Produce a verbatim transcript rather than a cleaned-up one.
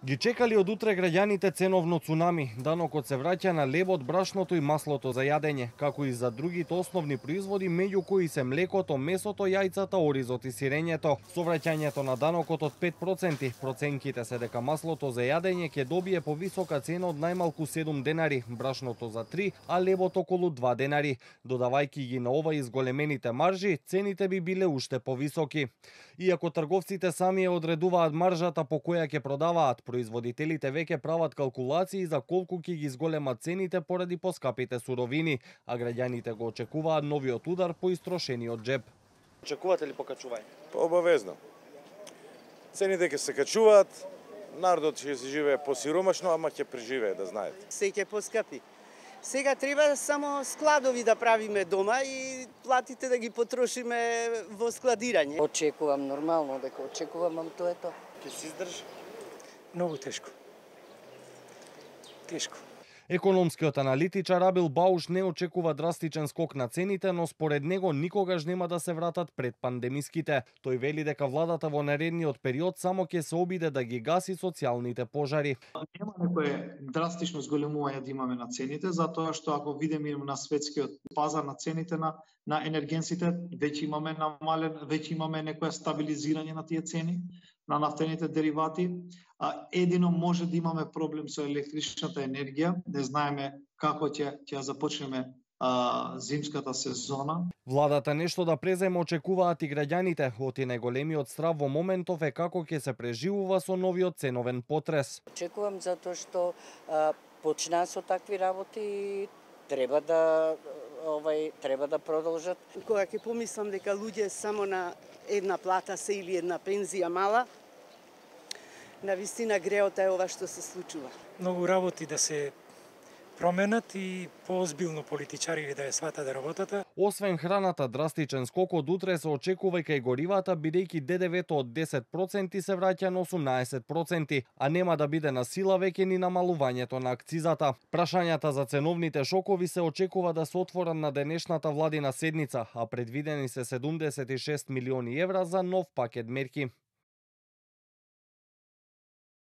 Ги чекали од утре граѓаните ценовно цунами. Данокот се враќа на лебот, брашното и маслото за јадење, како и за другите основни производи, меѓу кои се млекото, месото, јајцата, оризот и сирењето. Со враќањето на данокот од пет проценти, проценките се дека маслото за јадење ќе добие повисока цена од најмалку седум денари, брашното за три, а лебот околу два денари. Додавајќи ги на ова изголемените маржи, цените би биле уште повисоки. Иако трговците сами ја одредуваат маржата по која ќе продаваат, производителите веќе прават калкулации за колку ќе ги изголемат цените поради поскапите суровини, а граѓаните го очекуваат новиот удар по истрошениот джеб. Очекувате ли покачување? Па обавезно. Цените ќе се качуваат, народот ќе се живее посиромашно, ама ќе преживее, да знаете. Се ќе поскапи. Сега треба само складови да правиме дома и платите да ги потрошиме во складирање. Очекувам нормално дека очекувам, ам тоа е тоа. Ќе се издржи? Многу тешко. Тешко. Економскиот аналитичар Абил Бауш не очекува драстичен скок на цените, но според него никогаш нема да се вратат пред пандемиските. Тој вели дека владата во наредниот период само ќе се обиде да ги гаси социјалните пожари. Нема некое драстично зголемување да имаме на цените, затоа што ако видиме на светскиот пазар на цените на на енергенсите, веќе имаме намален, веќе имаме некое стабилизирање на тие цени на нафтените деривати. А, едино може да имаме проблем со електричната енергија, не знаеме како ќе ќе започнеме а, зимската сезона. Владата нешто да преземе очекуваат и граѓаните, оти најголемиот страв во моментов е како ќе се преживува со новиот ценовен потрес. Очекувам затоа што а, почнаа со такви работи и треба да овај треба да продолжат. Кога ќе помислам дека луѓе само на една плата се или една пензија мала, навистина греота е ова што се случува. Многу работи да се променат и поозбилно политичари да ја сватат работата. Освен храната, драстичен скок од утре се очекува и кај горивата, бидејќи ДДВ-то од десет проценти се враќа на осумнаесет проценти, а нема да биде на сила веќе ни намалувањето на акцизата. Прашањата за ценовните шокови се очекува да се отворат на денешната владина седница, а предвидени се седумдесет и шест милиони евра за нов пакет мерки.